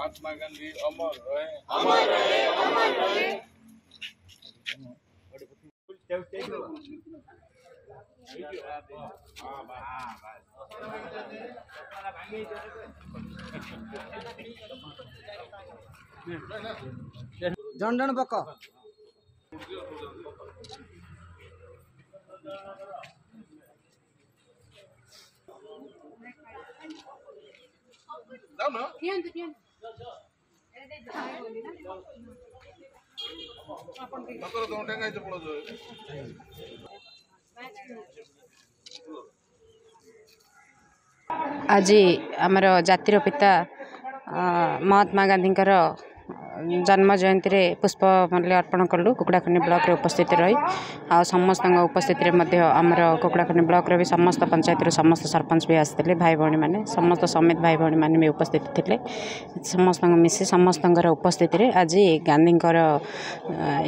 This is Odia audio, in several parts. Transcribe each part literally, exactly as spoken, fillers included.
महात्मा गांधी अमर रहे, अमर रहे, अमर रहे। ଜଣ ଜଣ ପକ। ଆଜି ଆମର ଜାତିର ପିତା ମହାତ୍ମା ଗାନ୍ଧୀଙ୍କର ଜନ୍ମ ଜୟନ୍ତୀରେ ପୁଷ୍ପମାଲ୍ୟ ଅର୍ପଣ କଲୁ କୁକୁଡ଼ାଖଣ୍ଡି ବ୍ଲକରେ ଉପସ୍ଥିତ ରହି, ଆଉ ସମସ୍ତଙ୍କ ଉପସ୍ଥିତିରେ ମଧ୍ୟ ଆମର କୁକୁଡ଼ାଖଣ୍ଡି ବ୍ଲକର ବି ସମସ୍ତ ପଞ୍ଚାୟତରୁ ସମସ୍ତ ସରପଞ୍ଚ ବି ଆସିଥିଲେ, ଭାଇ ଭଉଣୀମାନେ ସମସ୍ତ ସମିତି ଭାଇ ଭଉଣୀମାନେ ବି ଉପସ୍ଥିତ ଥିଲେ। ସମସ୍ତଙ୍କ ମିଶି ସମସ୍ତଙ୍କର ଉପସ୍ଥିତିରେ ଆଜି ଗାନ୍ଧୀଙ୍କର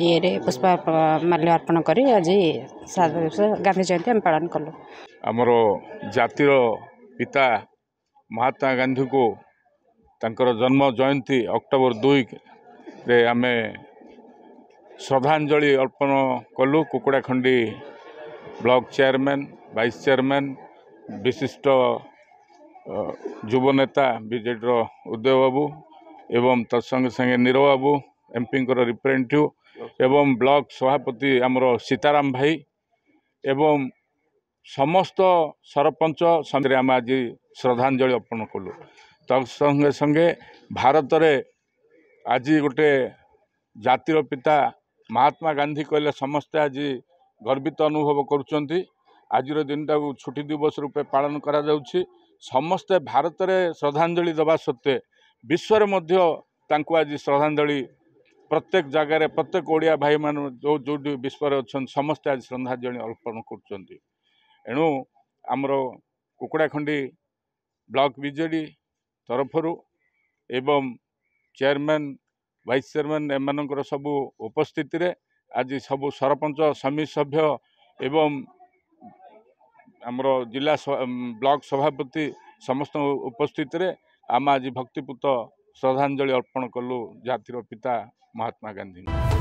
ଇଏରେ ପୁଷ୍ପମାଲ୍ୟ ଅର୍ପଣ କରି ଆଜି ଗାନ୍ଧୀ ଜୟନ୍ତୀ ଆମେ ପାଳନ କଲୁ। ଆମର ଜାତିର ପିତା ମହାତ୍ମା ଗାନ୍ଧୀଙ୍କୁ ତାଙ୍କର ଜନ୍ମ ଜୟନ୍ତୀ ଅକ୍ଟୋବର ଦୁଇରେ ଆମେ ଶ୍ରଦ୍ଧାଞ୍ଜଳି ଅର୍ପଣ କଲୁ। Kukudakhandi block chairman, vice chairman, ବିଶିଷ୍ଟ ଯୁବନେତା ବିଜେଡ଼ିର ଉଦୟ ବାବୁ ଏବଂ ତତ୍ସଙ୍ଗେ ସଙ୍ଗେ ନୀର ବାବୁ ଏମ୍ପିଙ୍କର ରିପ୍ରେଜେଣ୍ଟେଟିଭ୍ ଏବଂ ବ୍ଲକ ସଭାପତି ଆମର ସୀତାରାମ ଭାଇ ଏବଂ ସମସ୍ତ ସରପଞ୍ଚ ସମିତିରେ ଆମେ ଆଜି ଶ୍ରଦ୍ଧାଞ୍ଜଳି ଅର୍ପଣ କଲୁ। ତତ୍ସଙ୍ଗେ ସଙ୍ଗେ ଭାରତରେ ଆଜି ଗୋଟେ ଜାତିର ପିତା ମହାତ୍ମା ଗାନ୍ଧୀ କହିଲେ ସମସ୍ତେ ଆଜି ଗର୍ବିତ ଅନୁଭବ କରୁଛନ୍ତି। ଆଜିର ଦିନଟାକୁ ଛୁଟି ଦିବସ ରୂପେ ପାଳନ କରାଯାଉଛି। ସମସ୍ତେ ଭାରତରେ ଶ୍ରଦ୍ଧାଞ୍ଜଳି ଦେବା ସତ୍ତ୍ୱେ ବିଶ୍ୱରେ ମଧ୍ୟ ତାଙ୍କୁ ଆଜି ଶ୍ରଦ୍ଧାଞ୍ଜଳି ପ୍ରତ୍ୟେକ ଜାଗାରେ ପ୍ରତ୍ୟେକ ଓଡ଼ିଆ ଭାଇମାନେ ଯେଉଁ ଯେଉଁଠି ବିଶ୍ୱରେ ଅଛନ୍ତି ସମସ୍ତେ ଆଜି ଶ୍ରଦ୍ଧାଞ୍ଜଳି ଅର୍ପଣ କରୁଛନ୍ତି। ଏଣୁ ଆମର କୁକୁଡ଼ାଖଣ୍ଡି ବ୍ଲକ ବିଜେଡ଼ି ତରଫରୁ ଏବଂ ଚେୟାରମ୍ୟାନ୍, ଭାଇସ୍ ଚେୟାରମ୍ୟାନ୍ ଏମାନଙ୍କର ସବୁ ଉପସ୍ଥିତିରେ ଆଜି ସବୁ ସରପଞ୍ଚ, ସମିତି ସଭ୍ୟ ଏବଂ ଆମର ଜିଲ୍ଲା ବ୍ଲକ ସଭାପତି ସମସ୍ତଙ୍କ ଉପସ୍ଥିତିରେ ଆମେ ଆଜି ଭକ୍ତିପୂତ ଶ୍ରଦ୍ଧାଞ୍ଜଳି ଅର୍ପଣ କଲୁ ଜାତିର ପିତା ମହାତ୍ମା ଗାନ୍ଧୀଙ୍କୁ।